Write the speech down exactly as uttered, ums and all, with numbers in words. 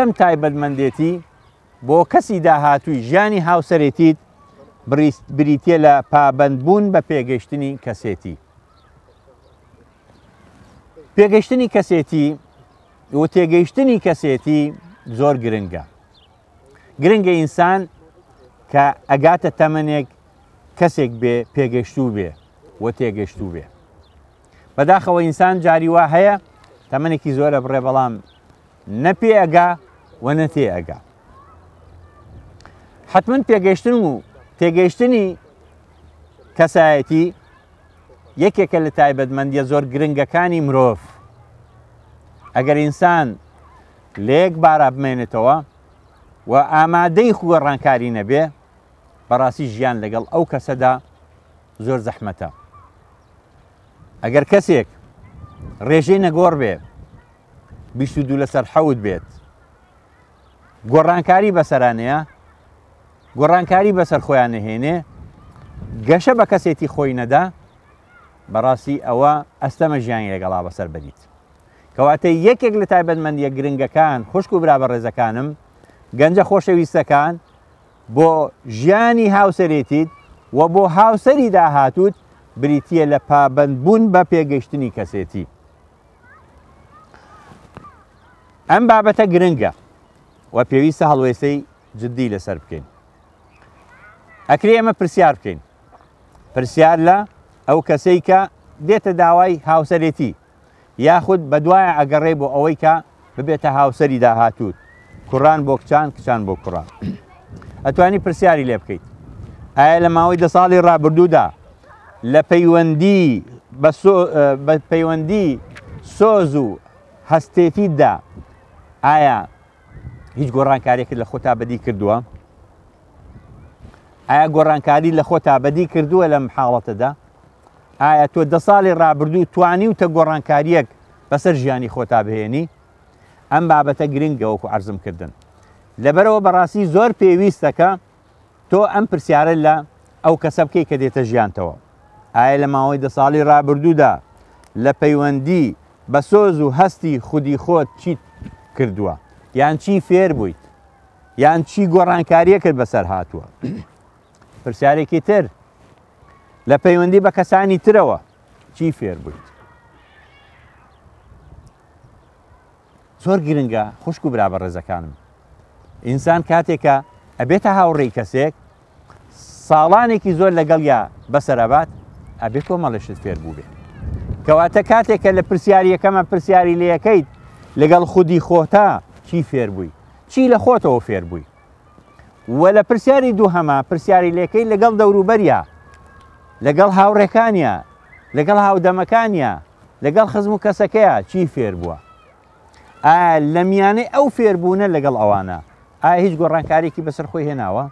یەکەم تایبەتمەندێتی بۆ کەسی داهاتووی ژیانی هاوسەرێتیت بریتیە لە پابەندبوون بە پێگەیشتنی کەسێتی. پێگەیشتنی کەسێتی و تێگەیشتنی کەسێتی زۆر گرنگە. گرنگە ئینسان کە ئەگاتە تەمەنێک کەسێک بێ پێگەیشتوو بێ و تێگەیشتوو بێ. بەداخەوە ئینسان جاری وا هەیە تەمەنێکی زۆرە بڕێ، بەڵام نە پێ ئەگا و نە تێ ئەگا. حتمما پێگەیشتن و تێگەیشتنی کەسایەتی یەکێکە لە تایبەتمەندیە زۆر گرنگەکانی مرۆڤ. ئەگەر ئینسان لە یەک بارا بمێنێتەوە و ئامادەی خۆگۆڕانکاری نەبێ، بەڕاستی ژیان لەگەڵ ئەو کەسەدا زۆر زەحمەتە. ئەگەر کەسێک ڕێژەی نەگۆڕ بێ، بیست و دوو لەسەر حەوت بێت، گۆڕانکاری بەسەرانەیە، گۆڕانکاری بەسەر خۆیان نەهێنێ، گەشە بە کەسێتی خۆی نەدا، بەڕاستی ئەوە ئەستەمە ژیانی لەگەڵا بەسەر بەریت. کەواتە یەکێک لە تایبەتمەندیە گرنگەکان، خوشک و برا بەڕێزەکانم، گەنجە خۆشەویستەکان، بۆ ژیانی هاوسەرێتیت و بۆ هاوسەری داهاتووت بریتیە لە پابەندبوون بە پێگەیشتنی کەسێتی. ئەم بابەتە گرنگە و پێویستە هەڵوێستەی جدی لەسەر بکەین. ئەکرێ ئێمە پرسیار بکەین، پرسیار لە ئەو کەسەی کە دێتە داوای هاوسەرێتی یاخود بەدوایە ئەگەڕێ بۆ ئەوەی کە ببێتە هاوسەری داهاتووت، کوڕان بۆ کچان، کچان بۆ کوڕان. ئەتوانی پرسیاری لێ بکەیت ئایا لە ماوەی دە ساڵی ڕابردوودا لە پەیوەندی بە پەیوەندی سۆز و هەستێتیدا ئایا هیچ گۆڕانکاریەکت لە خۆتا بەدی کردووە؟ ئایا گۆڕانکاری لە خۆتا بەدی کردووە لەم حاڵەتەدا؟ ئایا تۆ دە ساڵی ڕابردوو توانی و تە گۆڕانکاریەک بەسەر ژیانی خۆتا بهێنی؟ ئەم بابەتە گرنگە وەکو عەرزم کردن. لەبەرەوە بەڕاستی زۆر پێویستەکە تۆ ئەم پرسیارە لە ئەو کەسە بکەی کە دێتە ژیانتەوە. ئایا لە ماوەی دە ساڵی ڕابردوودا لە پەیوەندی بە سۆز و هەستی خودی خۆت چیت کردووە؟ یان چی فێر بوویت؟ یان چی گۆڕانکاریەکرد بەسەر هاتووە؟ پرسیارێکی تر، لە پەیوەندی بە کەسانی ترەوە چی فێر بوویت؟ زۆر گرنگە خوشک و برا بەڕێزەکانم. ئینسان کاتێکە ئەبێتە هاوڕێی کەسێک، ساڵانێکی زۆر لەگەڵیا بەسەرەبات، ئەبێ کۆمەڵێشت فێر بوو بێ. کەواتە کاتێکە لە پرسیاریەکەمە پرسیاری لێیەکەیت لەگەڵ خودی خۆتا چی فێر بووی، چی لە خۆتەوە فێر بووی، و لە پرسیاری دووهەمە پرسیاری لێکەی لەگەڵ دەوروبەریا، لەگەڵ هاوڕێکانیا، لەگەڵ هاودەمەکانیا، لەگەڵ خزم و کەسەکەیا چی فێر بووە؟ ئایا لە میانەی ئەو فێربوونە لەگەڵ ئەوانە ئایا هیچ گۆڕانکاریەکی بەسەر خۆی هێناوە؟